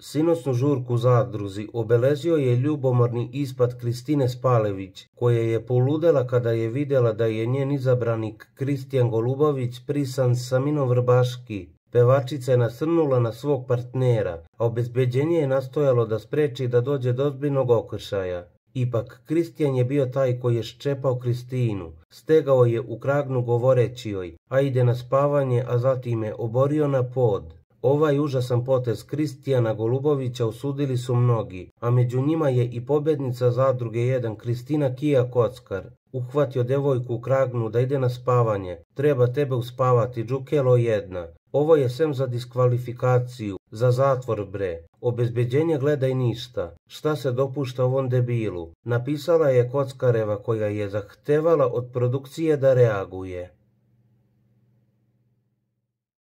Sinoćnu žurku u zadruzi obeležio je ljubomorni ispad Kristine Spalević, koja je poludela kada je vidjela da je njen izabranik Kristijan Golubović prisan sa Minom Vrbaški. Pevačica je nasrnula na svog partnera, a obezbeđenje je nastojalo da spreči da dođe do ozbiljnog okršaja. Ipak, Kristijan je bio taj koji je ščepao Kristinu, stegao je u kragnu govoreći joj, a ide na spavanje, a zatim je oborio na pod. Ovaj užasan potez Kristijana Golubovića osudili su mnogi, a među njima je i pobjednica zadruge 1 Kristina Kija Kockar. Uhvatio devojku u kragnu da ide na spavanje, treba tebe uspavati, džukelo jedna. Ovo je sem za diskvalifikaciju, za zatvor bre. Obezbeđenje gledaj ništa. Šta se dopušta ovom debilu? Napisala je Kockareva koja je zahtevala od produkcije da reaguje.